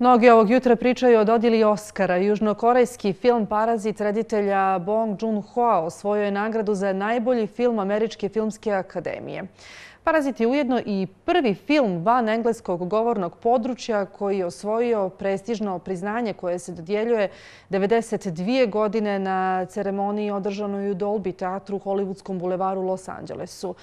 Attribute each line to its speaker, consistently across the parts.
Speaker 1: Mnogi ovog jutra pričaju o dodjeli Oskara. Južnokorejski film Parazit reditelja Bong Joon-hoa osvojio je nagradu za najbolji film Američke filmske akademije. Parazit je ujedno i prvi film van engleskog govornog područja koji je osvojio prestižno priznanje koje se dodjeljuje 92 godine na ceremoniji održanoj u Dolby teatru u Hollywoodskom bulevaru u Los Angelesu.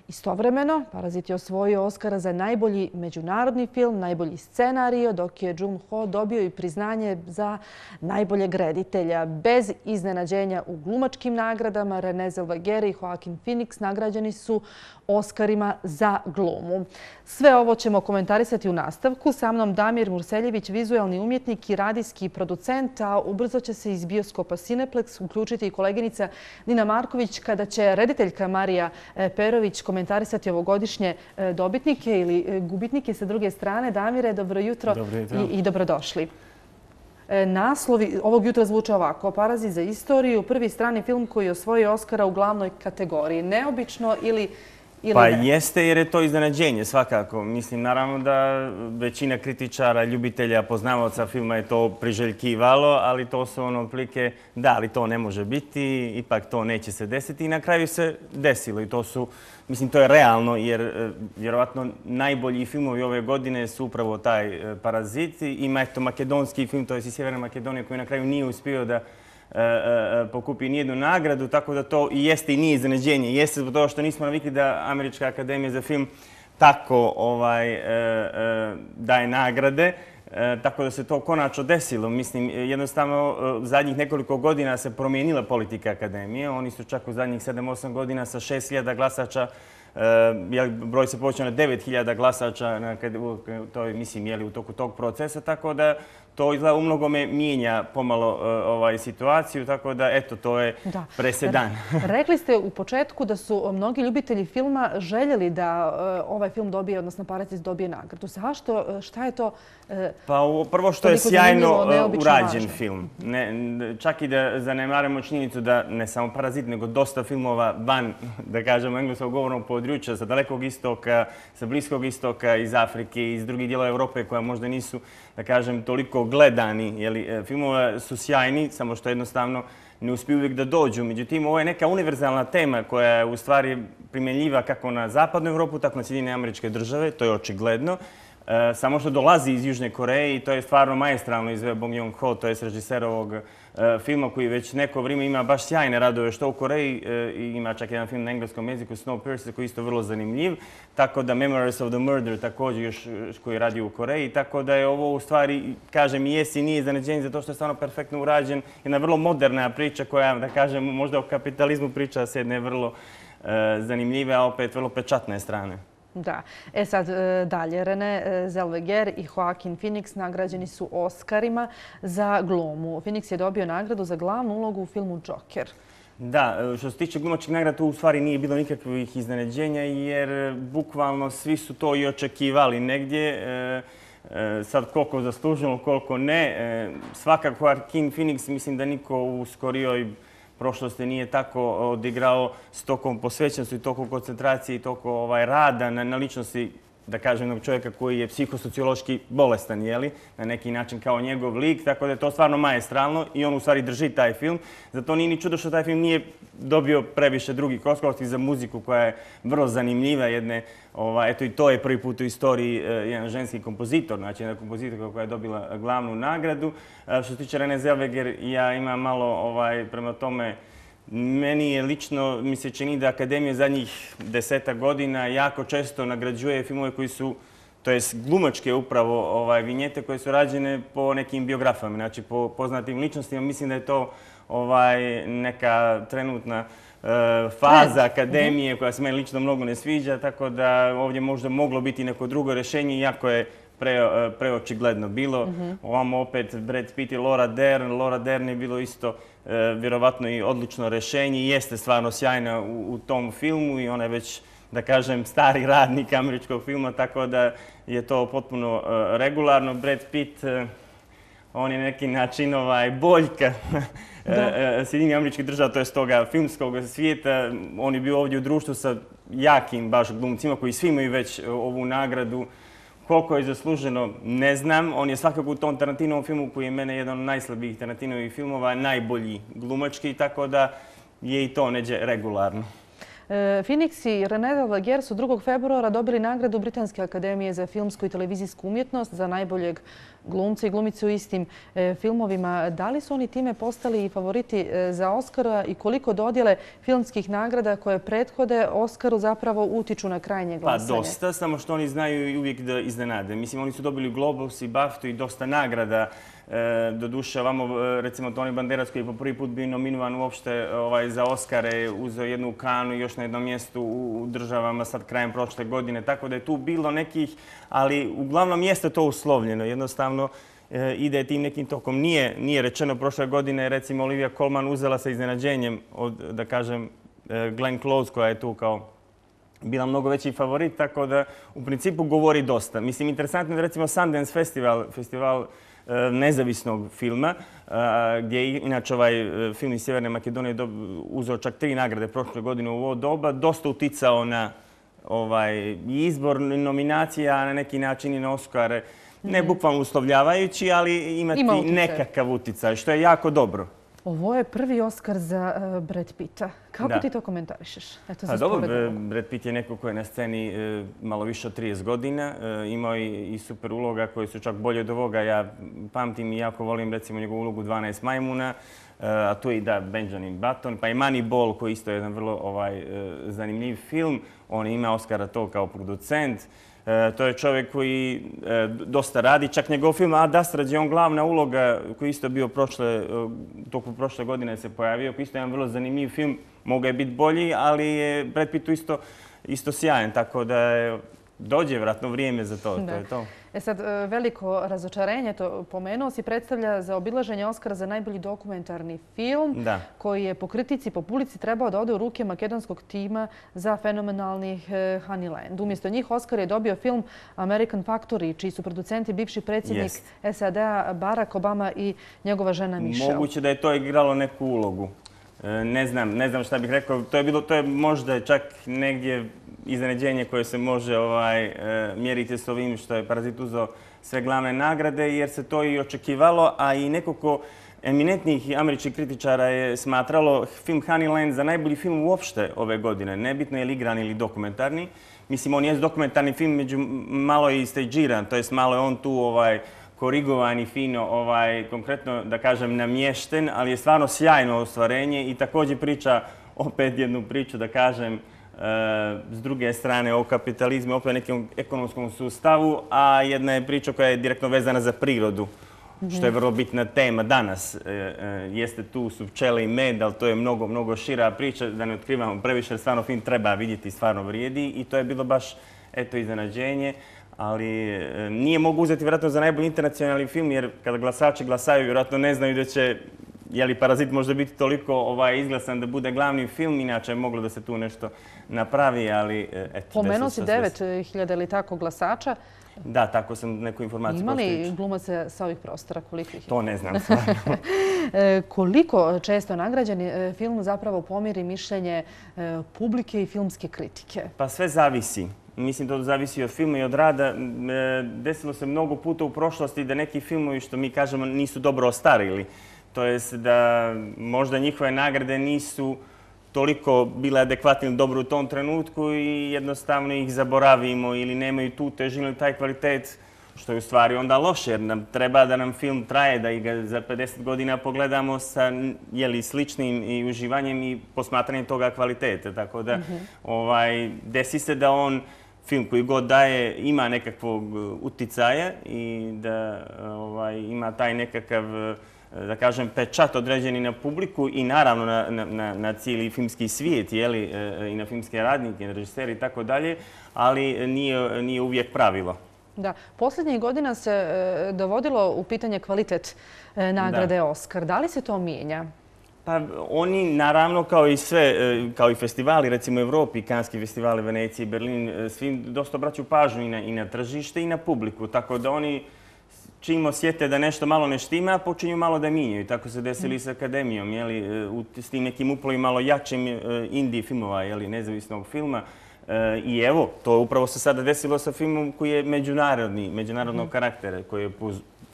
Speaker 1: Istovremeno, Parazit je osvojio Oskara za najbolji međunarodni film, najbolji scenario, dok je Joon-ho dobio i priznanje za najboljeg reditelja. Bez iznenađenja u glumačkim nagradama, Renée Zellweger i Joaquin Phoenix nagrađeni su Oskarima za glumu. Sve ovo ćemo komentarisati u nastavku. Sa mnom Damir Murseljević, vizualni umjetnik i radijski producent, a ubrzo će se iz bioskopa Cineplex uključiti i koleginica Nina Marković kada će rediteljka Marija Perović komentarisati ovogodišnje dobitnike ili gubitnike sa druge strane. Damire, dobro jutro i dobrodošli. Naslovi ovog jutra zvuče ovako: Parazit za istoriju, prvi strani film koji je osvojio Oskara u glavnoj kategoriji. Neobično ili
Speaker 2: Pa
Speaker 1: ne?
Speaker 2: jeste, jer je to iznenađenje svakako. Mislim, naravno da većina kritičara, ljubitelja, poznavaoca filma je to priželjkivalo, ali to su otprilike, da, ali to ne može biti, ipak to neće se desiti i na kraju se desilo. I to su, mislim, to je realno, jer vjerovatno najbolji filmovi ove godine su upravo taj Parazit. Ima eto makedonski film, to je iz Sjeverne Makedonije, koji na kraju nije uspio da pokupi nijednu nagradu, tako da to i jeste i nije iznenađenje. Jeste zbog toga što nismo navikli da Američka akademija za film tako daje nagrade, tako da se to konačno desilo. Mislim, jednostavno zadnjih nekoliko godina se promijenila politika akademije. Oni su čak u zadnjih 7-8 godina sa 6.000 glasača, broj se povećao na 9.000 glasača u toku tog procesa, tako da to izgleda u mnogome mijenja pomalo situaciju, tako da eto, to je presedan.
Speaker 1: Rekli ste u početku da su mnogi ljubitelji filma željeli da ovaj film dobije, odnosno Parazit dobije nagradu. Zašto? Šta je to?
Speaker 2: Pa prvo što je sjajno urađen film. Čak i da zanemarimo činjenicu da ne samo Parazit, nego dosta filmova van, da kažemo, engleskog govornog područja, sa Dalekog istoka, sa Bliskog istoka, iz Afrike, iz drugih dijelova Europe koja možda nisu, da kažem, toliko gledani. Filmova su sjajni, samo što jednostavno ne uspiju uvijek da dođu. Međutim, ovo je neka univerzalna tema koja je u stvari primjenjiva kako na Zapadnu Europu, tako na Sjedinjene Američke Države, to je očigledno. Samo što dolazi iz Južne Koreje i to je stvarno maestralno izveo Bong Joon-ho, to je režiser ovog filma koji već neko vrijeme ima baš sjajne radove što u Koreji. Ima čak jedan film na engleskom jeziku, Snowpiercer, koji je isto vrlo zanimljiv. Tako da Memories of the Murder također još koji radi u Koreji. Tako da je ovo u stvari, kažem, i jest i nije iznenađenje zato što je stvarno perfektno urađen. Jedna vrlo moderna priča koja, da kažem, možda o kapitalizmu priča s jedne vrlo zanimljive, a opet vrlo pečatne strane.
Speaker 1: Da. Sad dalje. Renée Zellweger i Joaquin Phoenix nagrađeni su Oskarima za glumu. Phoenix je dobio nagradu za glavnu ulogu u filmu Joker.
Speaker 2: Da, što se tiče glumačkih nagrada, tu u stvari nije bilo nikakvih iznenađenja jer bukvalno svi su to i očekivali negdje. Sad koliko zasluženo, koliko ne. Svakako Joaquin Phoenix, mislim da niko u skorijoj prošlosti nije tako odigrao s tokom posvećenosti, toliko koncentracije i toliko rada na ličnosti, da kažem, jednog čovjeka koji je psihosociološki bolestan, na neki način kao njegov lik, tako da je to stvarno maestralno i on u stvari drži taj film. Zato nije ni čudo što taj film nije dobio previše drugih Oscarovskih za muziku koja je vrlo zanimljiva. Eto i to je prvi put u istoriji jedan ženski kompozitor, znači jedna kompozitorka koja je dobila glavnu nagradu. Što se tiče Renée Zellweger, ja imam malo prema tome. Meni je lično, mi se čini da Akademija zadnjih 10 godina jako često nagrađuje filmove koji su, to jest glumačke upravo vinjete koje su rađene po nekim biografama, znači po poznatim ličnostima. Mislim da je to neka trenutna faza Akademije koja se meni lično mnogo ne sviđa, tako da ovdje možda moglo biti neko drugo rješenje, iako je preočigledno bilo. Ovamo opet Brad Pitt i Laura Dern. Laura Dern je bilo isto vjerovatno i odlično rješenje i jeste stvarno sjajna u tom filmu i ona je već, da kažem, stari radnik američkog filma, tako da je to potpuno regularno. Brad Pitt, on je neki način boljka Sjedinjenih Američkih Država, to je toga filmskog svijeta. On je bio ovdje u društvu sa jakim baš glumcima koji svi imaju već ovu nagradu Koliko je zasluženo, ne znam. On je svakako u tom Tarantinovom filmu, koji je mene jedan od najslabijih Tarantinovih filmova, najbolji glumački, tako da je i to neđe regularno.
Speaker 1: Phoenix i René Zellweger su 2. februara dobili nagradu Britanske akademije za filmsku i televizijsku umjetnost za najboljeg glumca i glumicu u istim filmovima. Da li su oni time postali i favoriti za Oscara i koliko dodjele filmskih nagrada koje prethode Oscaru zapravo utiču na krajnje glasanje?
Speaker 2: Pa dosta, samo što oni znaju i uvijek da iznenade. Mislim, oni su dobili Globus i BAFTA i dosta nagrada. Doduše, ovamo, recimo, Tony Banderas, koji je po prvi put bio nominovan uopšte za Oscare, uzeo jednu Kanu i još na jednom mjestu u državama sad krajem prošle godine. Tako da je tu bilo nekih, ali uglavnom jeste to uslovljeno. Jednostavno ide tim nekim tokom. Nije rečeno prošle godine, recimo, Olivia Colman uzela sa iznenađenjem od, da kažem, Glenn Close, koja je tu kao bila mnogo veći favorit, tako da u principu govori dosta. Mislim, interesantno je recimo Sundance festival nezavisnog filma, gdje je inače ovaj film iz Sjeverne Makedonije uzeo čak 3 nagrade prošle godine u ovo doba, dosta uticao na izbor nominacija, na neki način i na Oscare. Ne bukvalno uslovljavajući, ali imati nekakav uticaj, što je jako dobro.
Speaker 1: Ovo je prvi Oscar za Brad Pitta. Kako ti to komentarišeš?
Speaker 2: Dobro, Brad Pitt je neko koji je na sceni malo više od 30 godina. Imao i super uloga koji su čak bolje od ovoga. Ja pamtim i jako volim recimo njegovu ulogu 12 majmuna. A tu je i Benjamin Button. Pa i Moneyball koji isto je jedan vrlo zanimljiv film. On ima Oscara to kao producent. To je čovjek koji dosta radi. Čak njegov film Ad Astra, gdje je on glavna uloga, koji isto bio toku prošle godine se pojavio. Isto je jedan vrlo zanimljiv film. Mogao je biti bolji, ali je Brad Pitt isto sjajan. Tako da dođe vratno vrijeme za to. To je to.
Speaker 1: Sad, veliko razočarenje, to pomenuo si, predstavlja zaobilaženje Oscara za najbolji dokumentarni film, koji je po kritici, po publici trebao da ode u ruke makedonskog tima za fenomenalni Honeyland. Umjesto njih Oscar je dobio film American Factory, čiji su producenti bivši predsjednik SAD-a Barack Obama i njegova žena Michelle.
Speaker 2: Moguće da je to igralo neku ulogu. Ne znam šta bih rekao. To je možda čak negdje iznenađenje koje se može mjeriti s ovim što je Parazit uzeo sve glavne nagrade, jer se to i očekivalo, a i nekoliko eminentnih američkih kritičara je smatralo film Honeyland za najbolji film uopšte ove godine. Nebitno je li igran ili dokumentarni. Mislim, on je dokumentarni film, među malo je i stagiran, to jest malo je on tu korigovan i fino, konkretno da kažem namješten, ali je stvarno sjajno ostvarenje i također priča opet jednu priču, da kažem, s druge strane o kapitalizmu, opet nekom ekonomskom sustavu, a jedna je priča koja je direktno vezana za prirodu, što je vrlo bitna tema danas. Jeste tu su pčele i med, ali to je mnogo, mnogo šira priča, da ne otkrivamo previše, jer stvarno film treba vidjeti i stvarno vrijedi i to je bilo baš iznenađenje. Ali nije mogu uzeti vjerojatno za najbolji internacionalni film, jer kada glasači glasaju, vjerojatno ne znaju da će, je li Parazit možda biti toliko izglasan da bude glavni film, inače je moglo da se tu nešto napravi, ali eto.
Speaker 1: Pomenuo si 9.000 ili tako glasača.
Speaker 2: Da, tako sam neku informaciju
Speaker 1: Ima li glumaca sa ovih prostora? Koliko ih je?
Speaker 2: To ne znam stvarno.
Speaker 1: Koliko često nagrađeni film zapravo pomiri mišljenje publike i filmske kritike?
Speaker 2: Pa sve zavisi. Mislim, to zavisi od filma i od rada. Desilo se mnogo puta u prošlosti da neki filmovi, što mi kažemo, nisu dobro ostarili. To jest da možda njihove nagrade nisu toliko bile adekvatne ili dobro u tom trenutku i jednostavno ih zaboravimo ili nemaju tu težinu ili taj kvalitet, što je u stvari onda loše, jer nam treba da nam film traje, da ga za 50 godina pogledamo sa sličnim i uživanjem i posmatranjem toga kvalitete. Tako da desi se da on film koji god daje ima nekakvog uticaja i da ima taj nekakav, da kažem, pečat određeni na publiku i naravno na cijeli filmski svijet i na filmske radnike, na režisere i tako dalje, ali nije uvijek pravilo.
Speaker 1: Da, posljednjih godina se dovodilo u pitanje kvalitet nagrade Oscar. Da li se to mijenja?
Speaker 2: Pa oni, naravno, kao i sve, kao i festivali, recimo u Evropi, Kanski festivali, Venecije, Berlin, svi dosta obraćaju pažnju i na tržište i na publiku. Tako da oni, čim osjete da nešto malo ne štima, počinju malo da mijenjaju. Tako se desili i s Akademijom, s tim nekim uplovi malo jačim indie filmova, nezavisnog filma. I evo, to upravo se sada desilo sa filmom koji je međunarodnog karaktera, koji je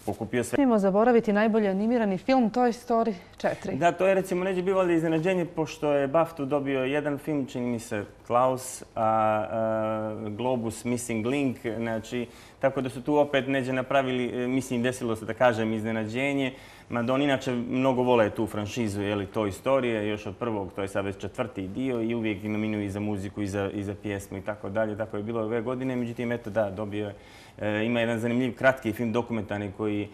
Speaker 2: pokupio sve.
Speaker 1: Smijemo zaboraviti najbolji animirani film Toy Story 4.
Speaker 2: Da, to je recimo neće bilo iznenađenje, pošto je BAFTA dobio jedan film, čini mi se Klaus, a Globus Missing Link, znači, tako da su tu opet neđe napravili, mislim, desilo se da kažem iznenađenje, mada oni inače mnogo vole tu franšizu, Toy Story, još od prvog, to je sad već 4. dio i uvijek nominuju i za muziku i za pjesmu i tako dalje, tako je bilo ove godine, međutim, eto da, dobio je. Ima jedan zanimljiv kratki film dokumentarni koji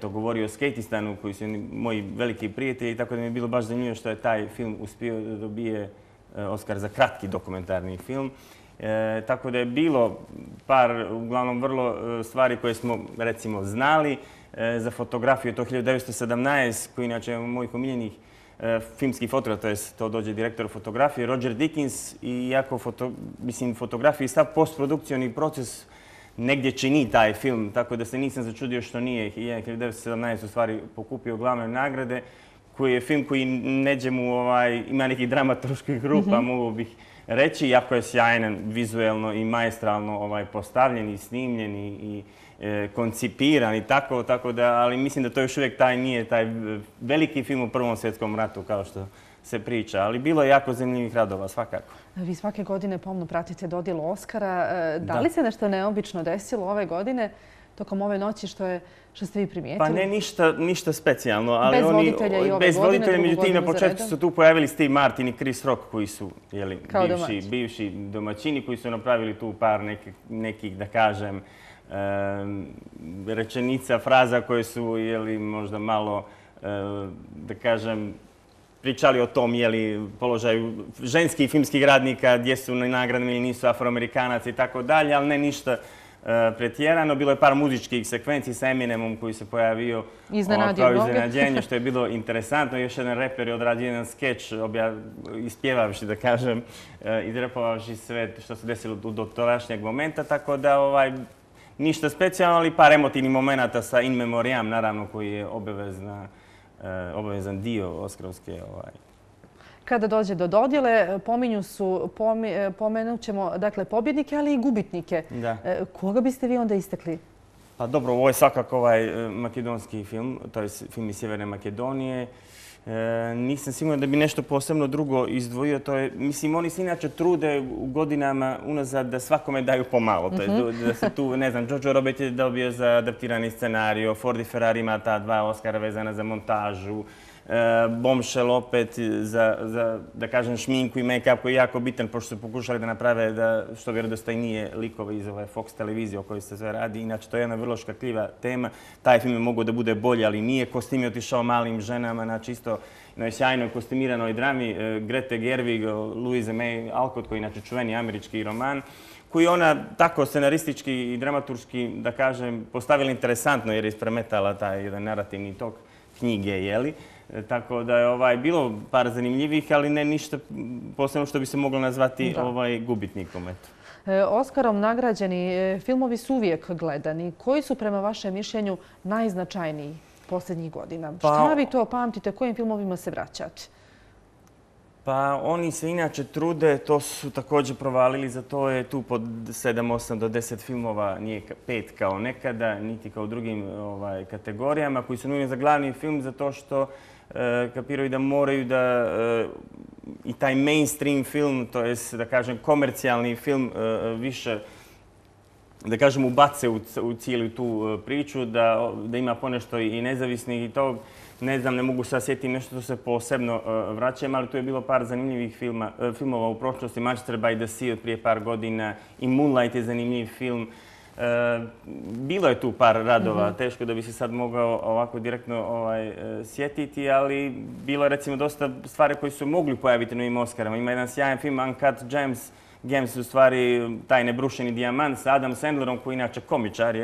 Speaker 2: govori o skejtistanu, koji su moji veliki prijatelji, tako da mi je bilo baš zanimljivo što je taj film uspio da dobije Oskar za kratki dokumentarni film. Tako da je bilo par, uglavnom, vrlo stvari koje smo, recimo, znali. Za fotografiju je to 1917, koji inače je mojih omiljenih filmskih fotografa, to dođe direktor fotografije, Roger Dickens, i iako fotografiji stav postprodukcioni proces negdje čini taj film, tako da se nisam začudio što nije 1917 u stvari pokupio glavne nagrade, koji je film koji neđe mu ima nekih dramaturških grupa, mogu bih reći, jako je sjajan vizuelno i maestralno postavljen i snimljen i koncipiran i tako da, ali mislim da to još uvijek nije taj veliki film u Prvom svjetskom ratu kao što se priča, ali bilo je jako zanimljivih radova, svakako. Vi
Speaker 1: svake godine pomno pratite dodjelu Oskara. Da li se nešto neobično desilo ove godine tokom ove noći što ste vi primijetili?
Speaker 2: Pa ne ništa specijalno.
Speaker 1: Bez voditelja i ove godine?
Speaker 2: Bez voditelja, međutim na početku su tu pojavili Steve Martin i Chris Rock koji su bivši domaćini koji su napravili tu par nekih, da kažem, rečenica, fraza koje su možda malo, da kažem, pričali o tom položaju ženskih filmskih radnika, gdje su nagradni ili nisu Afroamerikanaca i tako dalje, ali ne ništa pretjerano. Bilo je par muzičkih sekvenci sa Eminemom koji se pojavio kao iznenađenje, što je bilo interesantno. Još jedan reper je odradio jedan skeč, ispjevavši, da kažem, izrepovavši sve što se desilo do tadašnjeg momenta, tako da ništa specijalno, ali par emotivnih momenata sa In Memoriam, naravno, koji je obavezan dio oskarovske.
Speaker 1: Kada dođe do dodjele, pomenut ćemo pobjednike, ali i gubitnike. Koga biste vi onda istakli?
Speaker 2: Pa dobro, ovo je svakako makedonski film, to je film iz Sjeverne Makedonije. Nisam siguran da bi nešto posebno drugo izdvojio. Mislim, oni se inače trude u godinama unazad da svakome daju pomalo. Da se tu, ne znam, Jojo Rabbit je dobio za adaptirani scenario, Ford i Ferrari ima ta 2 Oscara vezana za montažu, Bombshell opet za, da kažem, šminku i make-up koji je jako bitan, pošto su pokušali da naprave što vjerodostojnije likove iz Fox televizije o kojoj se sve radi. Inače, to je jedna vrlo škakljiva tema. Taj film je mogao da bude bolji, ali nije. Kostim je otišao malim ženama, znači isto na sjajnoj kostimiranoj drami Grete Gerwig, Louise May Alcott, koji je inače čuveni američki roman, koji ona tako scenaristički i dramaturški, da kažem, postavila interesantno jer je ispremetala taj jedan narativni tok knjige, jeli? Tako da je bilo par zanimljivih, ali ne ništa posebno što bi se moglo nazvati gubitnikom.
Speaker 1: Oskarom nagrađeni filmovi su uvijek gledani. Koji su prema vašem mišljenju najznačajniji posljednjih godina? Šta vi to pamtite? Kojim filmovima se vraćate?
Speaker 2: Pa oni se inače trude, to su također provalili, za to je tu pod 7, 8 do 10 filmova, nije 5 kao nekada, niti kao u drugim kategorijama, koji su nujni za glavni film, zato što kapiraju da moraju da i taj mainstream film, to jest da kažem komercijalni film, više da kažem ubace u cijelu tu priču, da ima ponešto i nezavisnih i to. Ne znam, ne mogu sad sjetiti nešto što se posebno vraćam, ali tu je bilo par zanimljivih filmova u prošlosti. Manchester by the Sea od prije par godina i Moonlight je zanimljiv film. Bilo je tu par radova, teško da bi se sad mogao ovako direktno sjetiti, ali bilo je recimo dosta stvari koji su mogli pojaviti na ovim Oscarama. Ima jedan sjajan film Uncut Gems. Gems je u stvari taj nebrušeni dijamant sa Adam Sandlerom, koji je inače komičar,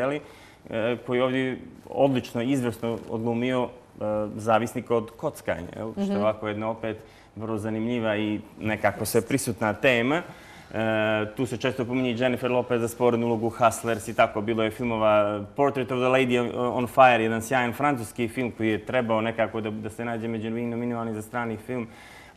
Speaker 2: koji je ovdje odlično, izvrsno odglumio zavisnika od kockanja, što je ovako jedna opet vrlo zanimljiva i nekako sve prisutna tema. Tu se često pominje Jennifer Lopez za sporednu ulogu Hustlers i tako. Bilo je filmova Portrait of the Lady on Fire, jedan sjajan francuski film koji je trebao nekako da se nađe među nominovanih za strani film.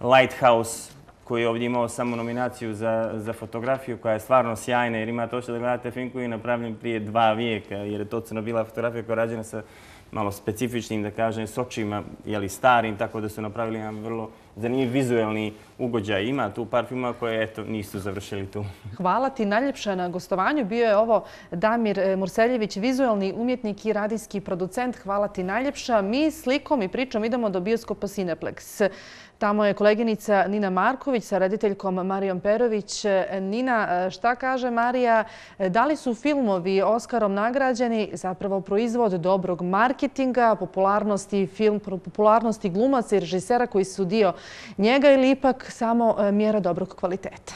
Speaker 2: Lighthouse, koji je ovdje imao samo nominaciju za fotografiju, koja je stvarno sjajna, jer imate ošto da gledate film koji je napravljen prije 2 vijeka, jer je to crno-bila fotografija koja je rađena sa malo specifičnim, da kažem, sočima, starim, tako da su napravili jedan vrlo zanimljiv vizuelni ugođaj. Ima tu par filmova koje, eto, nisu završili tu.
Speaker 1: Hvala ti najljepša na gostovanju. Bio je ovo Damir Murseljević, vizuelni umjetnik i radijski producent. Hvala ti najljepša. Mi slikom i pričom idemo do bioskopa Cineplex. Tamo je koleginica Nina Marković sa rediteljkom Marijom Perović. Nina, šta kaže Marija? Da li su filmovi Oskarom nagrađeni zapravo proizvod dobrog marketinga, popularnosti glumaca i režisera koji su dio njega ili ipak samo mjera dobrog kvaliteta?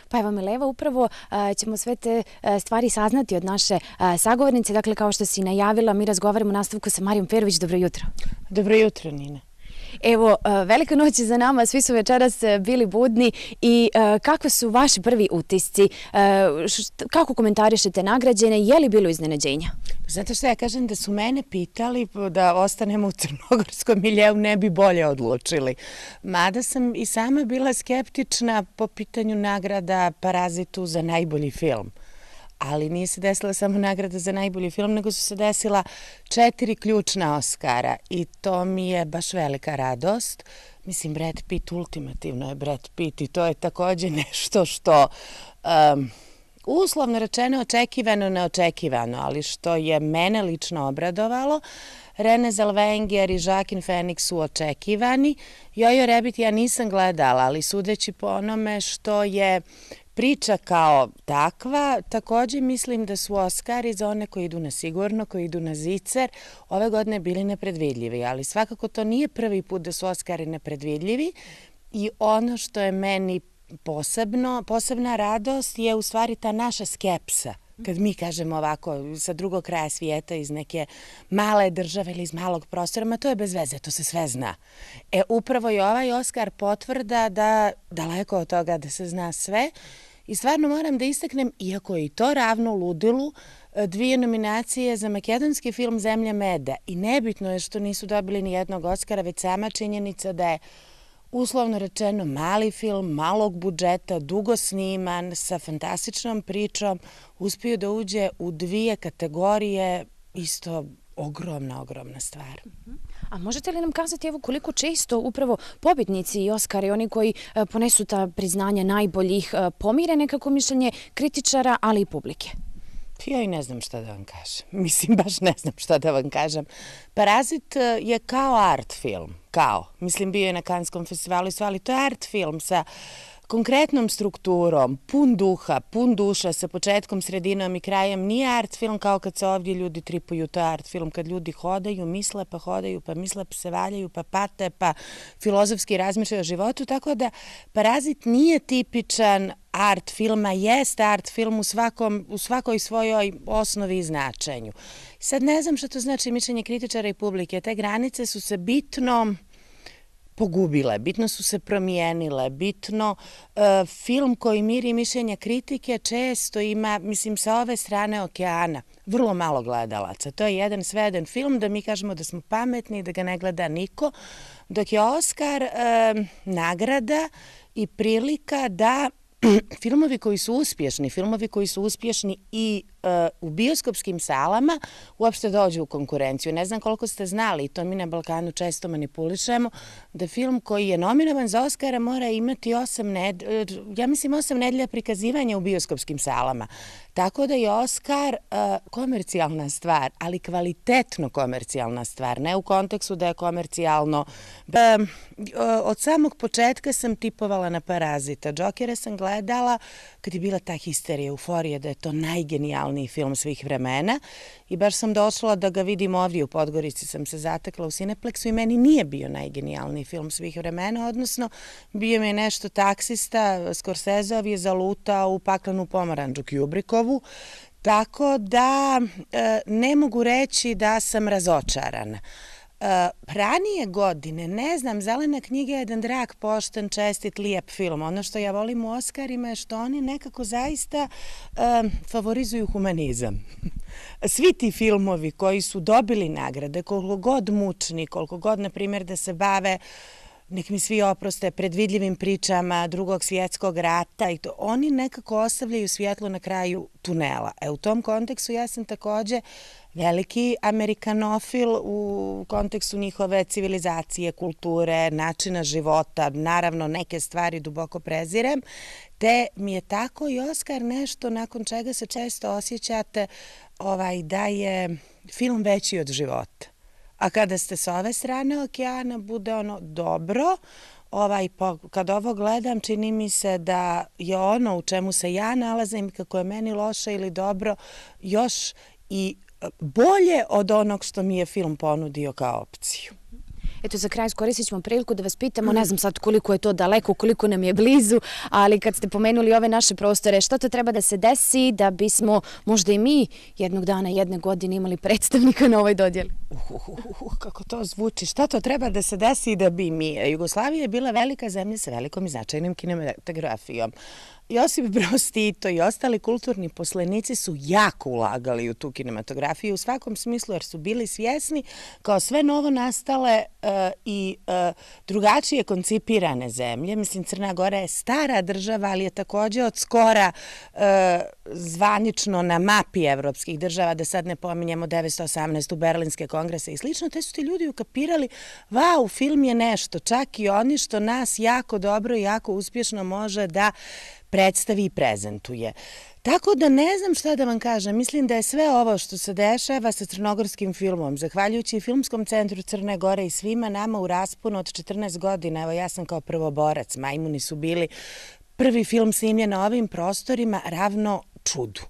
Speaker 3: Pa evo Mileva, upravo ćemo sve te stvari saznati od naše sagovornice. Dakle, kao što si najavila, mi razgovaramo u nastavku sa Marijom Perović. Dobro jutro.
Speaker 4: Dobro jutro, Nina.
Speaker 3: Evo, velika noć je za nama, svi su večeras bili budni i kakve su vaši prvi utisci? Kako komentarišete nagrađene? Je li bilo iznenađenja?
Speaker 4: Znate što ja kažem, da su mene pitali da ostanemo u crnogorskom miljeu, ne bi bolje odlučili. Mada sam i sama bila skeptična po pitanju nagrada Parazitu za najbolji film. Ali nije se desila samo nagrada za najbolji film, nego su se desila 4 ključna Oskara i to mi je baš velika radost. Mislim, Brad Pitt, ultimativno je Brad Pitt i to je također nešto što uslovno rečeno očekivano, neočekivano, ali što je mene lično obradovalo. Renée Zellweger i Joaquin Phoenix su očekivani. Jojo Rabbit ja nisam gledala, ali sudeći po onome što je priča kao takva, također mislim da su Oskari za one koji idu na sigurno, koji idu na zicer, ove godine bili nepredvidljivi, ali svakako to nije prvi put da su Oskari nepredvidljivi i ono što je meni posebna radost je u stvari ta naša skepsa. Kad mi kažemo ovako sa drugog kraja svijeta iz neke male države ili iz malog prostora, ma to je bez veze, to se sve zna. Upravo je ovaj Oskar potvrda da daleko od toga da se zna sve i stvarno moram da istaknem, iako je i to ravno ludilu, 2 nominacije za makedonski film Zemlja meda i nebitno je što nisu dobili ni jednog Oskara, već sama činjenica da je uslovno rečeno mali film, malog budžeta, dugo sniman, sa fantastičnom pričom, uspio da uđe u 2 kategorije, isto ogromna stvar.
Speaker 3: A možete li nam kazati evo koliko često upravo pobjednici i Oskari, oni koji ponesu ta priznanja najboljih, pomire nekako mišljenje kritičara, ali i publike?
Speaker 4: Ja i ne znam šta da vam kažem. Mislim, baš ne znam šta da vam kažem. Parazit je kao art film. Mislim, bio je na Kanskom festivalu i sve, ali to je art film sa konkretnom strukturom, pun duha, pun duša, sa početkom, sredinom i krajem. Nije art film kao kad se ovdje ljudi tripuju, to je art film kad ljudi hodaju, misle pa hodaju, pa misle pa se valjaju, pa pate, pa filozofski razmišljaju o životu, tako da Parazit nije tipičan art filma, jest art film u svakoj svojoj osnovi i značenju. Sad ne znam što to znači mišljenje kritičara i publike. Te granice su se bitno pogubile, bitno su se promijenile, bitno film koji miri mišljenja kritike često ima, mislim, sa ove strane okeana, vrlo malo gledalaca. To je jedan sveden film da mi kažemo da smo pametni, da ga ne gleda niko, dok je Oskar nagrada i prilika da filmovi koji su uspješni i u bioskopskim salama uopšte dođu u konkurenciju. Ne znam koliko ste znali, i to mi na Balkanu često manipulišemo, da film koji je nominovan za Oskara mora imati 8 nedelja prikazivanja u bioskopskim salama. Tako da je Oskar komercijalna stvar, ali kvalitetno komercijalna stvar, ne u kontekstu da je komercijalno. Od samog početka sam tipovala na Parazita. Džokera sam gledala kad je bila ta histerija, euforija da je to najgenijalniji film svih vremena i baš sam došla da ga vidim ovdje u Podgorici, sam se zatekla u Cineplexu i meni nije bio najgenijalniji film svih vremena, odnosno bio mi je nešto taksista, Scorseseov je zalutao u Paklenu pomorandžu Kubrickovu, tako da ne mogu reći da sam razočarana. Ranije godine, ne znam, Zelena knjiga je jedan drag, pošten, čestit, lijep film. Ono što ja volim u Oskarima je što oni nekako zaista favorizuju humanizam. Svi ti filmovi koji su dobili nagrade, koliko god mučni, koliko god, na primjer, da se bave nek mi svi oproste, predvidljivim pričama Drugog svjetskog rata i to. Oni nekako ostavljaju svjetlo na kraju tunela. U tom kontekstu ja sam takođe veliki amerikanofil u kontekstu njihove civilizacije, kulture, načina života, naravno neke stvari duboko prezirem, te mi je tako i Oskar nešto nakon čega se često osjećate da je film veći od života. A kada ste s ove strane okeana, bude ono dobro. Kad ovo gledam, čini mi se da je ono u čemu se ja nalazim, kako je meni loše ili dobro, još i bolje od onog što mi je film ponudio kao opciju.
Speaker 3: Eto, za kraj iskoristit ćemo priliku da vas pitamo, ne znam sad koliko je to daleko, koliko nam je blizu, ali kad ste pomenuli ove naše prostore, što to treba da se desi da bismo možda i mi jednog dana, jedne godine imali predstavnika na ovoj dodjeli?
Speaker 4: Kako to zvuči, šta to treba da se desi da bi mi? Jugoslavija je bila velika zemlja sa velikom i značajnom kinematografijom. Josip Broz Tito i ostali kulturni poslenici su jako ulagali u tu kinematografiju u svakom smislu jer su bili svjesni kao sve novo nastale i drugačije koncipirane zemlje. Mislim, Crna Gora je stara država, ali je takođe od skora zvanično na mapi evropskih država, da sad ne pominjemo 918. Berlinske kongrese i slično. Te su ti ljudi ukapirali, vau, film je nešto, čak i oni što nas jako dobro i jako uspješno može da predstavi i prezentuje. Tako da ne znam šta da vam kažem. Mislim da je sve ovo što se dešava sa crnogorskim filmom, zahvaljujući Filmskom centru Crne Gore i svima nama u rasponu od 14 godina, evo ja sam kao prvoborac, Majmuni su bili prvi film snimljen na ovim prostorima, ravno čudu.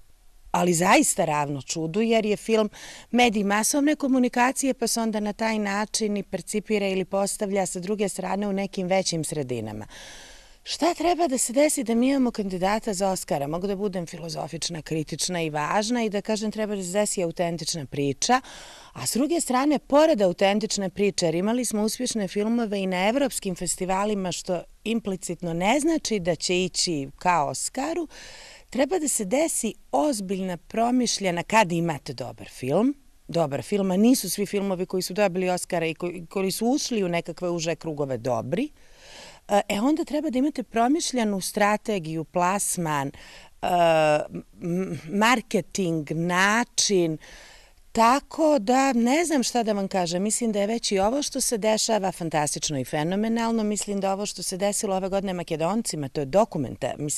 Speaker 4: Ali zaista ravno čudu, jer je film medij masovne komunikacije, pa se onda na taj način i percipira ili postavlja sa druge strane u nekim većim sredinama. Šta treba da se desi da mi imamo kandidata za Oskara? Mogu da budem filozofična, kritična i važna i da kažem treba da se desi autentična priča, a s druge strane, pored autentične priče, jer imali smo uspješne filmove i na evropskim festivalima, što implicitno ne znači da će ići ka Oskaru, treba da se desi ozbiljna, promišljena, kad imate dobar film, a nisu svi filmovi koji su dobili Oskara i koji su ušli u nekakve uže krugove dobri, onda treba da imate promišljenu strategiju, plasman, marketing, način, tako da ne znam šta da vam kažem. Mislim da je već i ovo što se dešava fantastično i fenomenalno. Mislim da ovo što se desilo ove godine Makedoncima, to je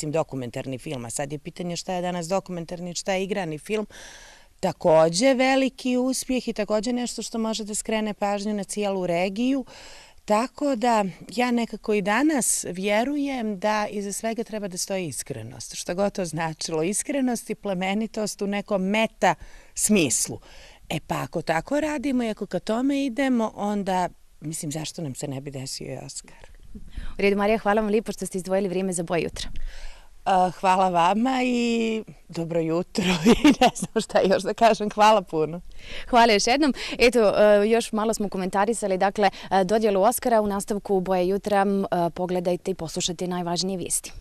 Speaker 4: dokumentarni film, a sad je pitanje šta je danas dokumentarni, šta je igrani film, takođe veliki uspjeh i takođe nešto što može da skrene pažnju na cijelu regiju. Tako da ja nekako i danas vjerujem da iza svega treba da stoji iskrenost. Šta god to značilo, iskrenost i plemenitost u nekom meta smislu. Pa ako tako radimo i ako ka tome idemo, onda, mislim, zašto nam se ne bi desio i Oskar?
Speaker 3: U redu, Marija, hvala vam lijepo što ste izdvojili vrijeme za Boje jutra.
Speaker 4: Hvala vama i dobro jutro i ne znam šta još da kažem. Hvala puno.
Speaker 3: Hvala još jednom. Eto, još malo smo komentarisali, dakle, dodjelu Oskara u nastavku Boje jutra. Pogledajte i poslušajte najvažnije vijesti.